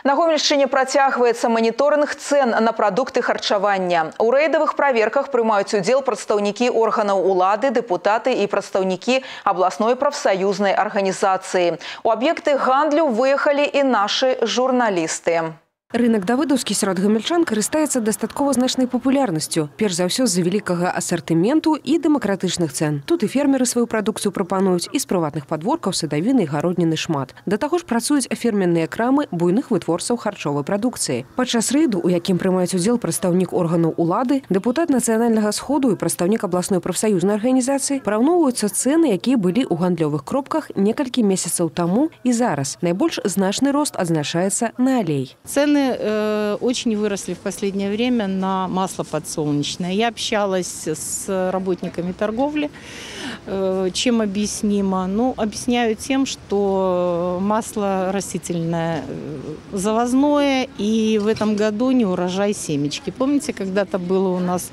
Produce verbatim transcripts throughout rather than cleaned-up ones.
На Гомельшчыне працягваецца моніторинг цен на продукты харчавання. У рэйдавых праверках прымаюць удзел прадстаўнікі органаў улады, дэпутаты і прадстаўнікі абласной прафсаюзнай арганізацыі. У аб'екты гандлю выехалі і нашы журналісты. Рынок давыдаўскі сярод гамельчан карыстаецца дастаткова значнай папулярнасцю, перш за ўсё з-за вялікага асартыменту і дэмакратычных цэн. Тут і фермеры сваю прадукцыю прапануюць, і з прыватных падворкаў садавіны і гародніны шмат. Да таго ж працуюць ферменныя крамы буйных вытворцаў харчовай прадукцыі. Падчас рэйду, у якім прымаюць удзел прадстаўнік органаў улады, дэпутат нацыянальнага сходу і прадстаўнік абласной прафсаюзнай арганізацыі параўноўваюцца цэны, якія былі ў гандлёвых кропках некалькі месяцаў таму і зараз. Найбольш значны рост адзначаецца на алей. Цены очень выросли в последнее время на масло подсолнечное. Я общалась с работниками торговли. Чем объяснимо? Ну, объясняю тем, что масло растительное завозное, и в этом году не урожай семечки. Помните, когда-то было у нас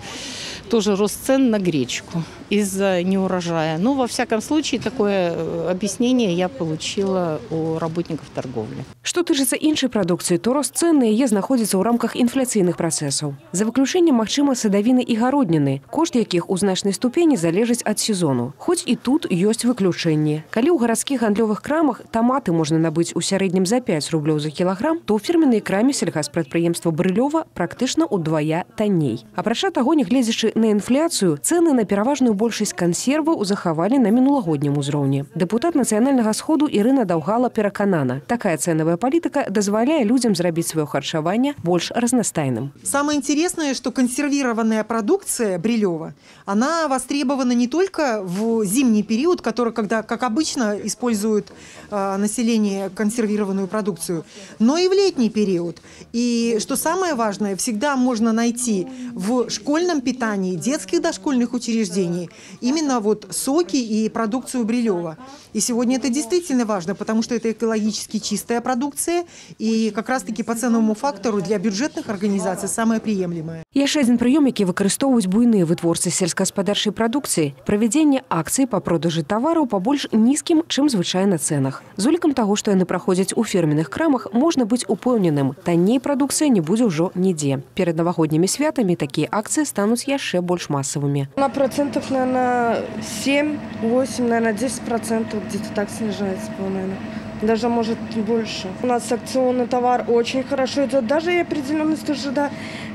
тоже рост цен на гречку из-за неурожая. Ну, во всяком случае, такое объяснение я получила у работников торговли. Што тычыцца іншай прадукцыі, то рост цэн на яе знаходзіцца ў рамках інфляцыйных працэсаў. За выключэннем, магчыма, садавіны і гародніны, кошт якіх у значнай ступені залежыць ад сезону. Хоць і тут ёсць выключэнні. Калі ў гарадскіх гандлёвых крамах таматы можна набыць у сярэднім за пяць рублёў за кілаграм, то ў фірменнай краме сельгаспрадпрыемства Брылёва практычна ўдвая танней. Апрача таго, нягледзячы на інфляцыю, цэны на пераважную большасць кансерваў захавалі на мінулагоднім узроўні. Дэпутат нацыянальнага сходу Ірына Даўгала пераканана, такая цэнавая политика дозволяет людям зрабіць свое харчевание больше разнастайным. Самое интересное, что консервированная продукция Брилева, она востребована не только в зимний период, который, когда, как обычно, использует э, население консервированную продукцию, но и в летний период. И что самое важное, всегда можно найти в школьном питании, детских дошкольных учреждений именно вот соки и продукцию Брилева. И сегодня это действительно важно, потому что это экологически чистая продукция, и как раз-таки по ценовому фактору для бюджетных организаций самое приемлемое. Яшчэ адзін прыём, які выкарыстоўваюць буйныя вытворцы сельскагаспадарчай прадукцыі – правядзенне акцый па продажы тавараў па больш нізкім, чым звычайна цэнах. З улікам таго, што яны праходзяць у фірменных крамах, можна быць упэўненым – танней прадукцыя не будзе ўжо нідзе. Перад навагоднімі святамі такія акцыі стануць яшчэ больш масавымі. На процентов, наверное, семь-восемь, наверное, десять процентов где-то так снижается, по-моему. Даже может больше. У нас акционный товар очень хорошо идет. Даже и определенность уже, да,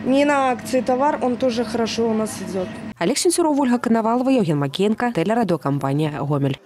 не на акции товар, он тоже хорошо у нас идет. Олег Сенцюров, Ольга Коновалова, Евген Макеенко, телерадиокомпания «Гомель».